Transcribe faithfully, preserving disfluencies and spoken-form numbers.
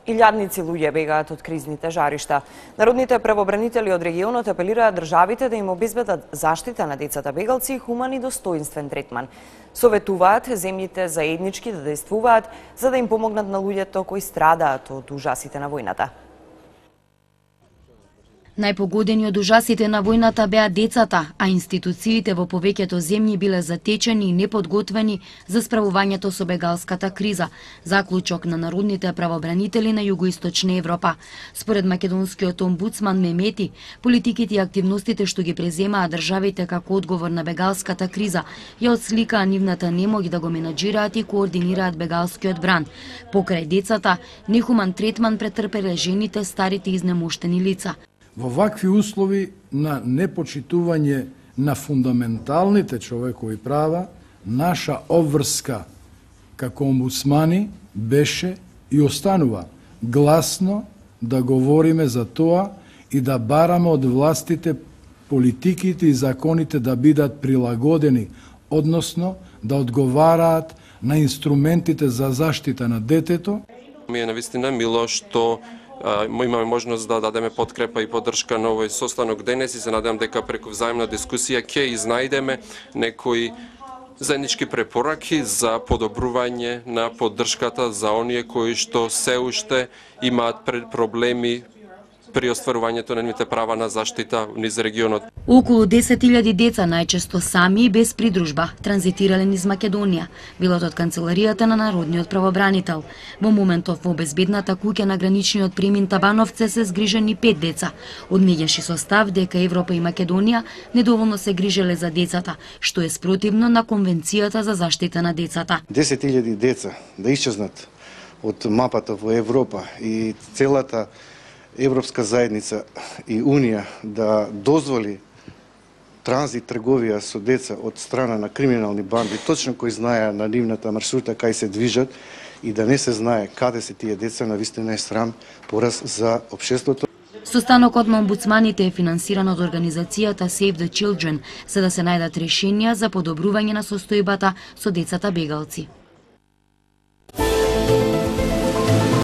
Илјадници луѓе бегаат од кризните жаришта. Народните правобранители од регионот апелираат државите да им обезбедат заштита на децата бегалци и хуман и достоинствен третман. Советуваат земјите заеднички да действуваат за да им помогнат на луѓето кои страдаат од ужасите на војната. Најпогодени од ужасите на војната беа децата, а институциите во повеќето земји биле затечени и неподготвени за справувањето со бегалската криза, заклучок на народните правобранители на Југоисточна Европа. Според македонскиот омбудсман Мемети, политиките и активностите што ги преземаат државите како одговор на бегалската криза ја отсликаа нивната немоќ да го менаџираат и координираат бегалскиот бран. Покрај децата, нехуман третман претрпеле жените, старите и изнемоштени лица. Во вакви услови на непочитување на фундаменталните човекови права, наша обврска како омбудсмани беше и останува гласно да говориме за тоа и да бараме од властите политиките и законите да бидат прилагодени, односно да одговараат на инструментите за заштита на детето. Ми е навистина мило што имаме можност да дадеме подкрепа и поддршка на овој состанок денес и се надевам дека преку взаимна дискусија ќе изнајдеме некои заеднички препораки за подобрување на поддршката за оние кои што се уште имаат проблеми при остварувањето на нивните права на заштита низ регионот. Околу десет илјади деца, најчесто сами и без придружба, транзитирале низ Македонија, билот од канцеларијата на Народниот правобранител. Во моментов во безбедната куќа на граничниот премин Табановце се згрижени пет деца. Одмеѓаше со став дека Европа и Македонија недоволно се грижеле за децата, што е спротивно на Конвенцијата за заштита на децата. десет илјади деца да исчезнат од мапата во Европа и целата Европска заедница и Унија да дозволи транзит трговија со деца од страна на криминални банди, точно кои знаеа на нивната маршрута кај се движат и да не се знае каде се тие деца, навистина е срам пораз за општеството. Состанокот на омбудсманите е финансиран од организацијата Save the Children, за да се најдат решенија за подобрување на состојбата со децата бегалци.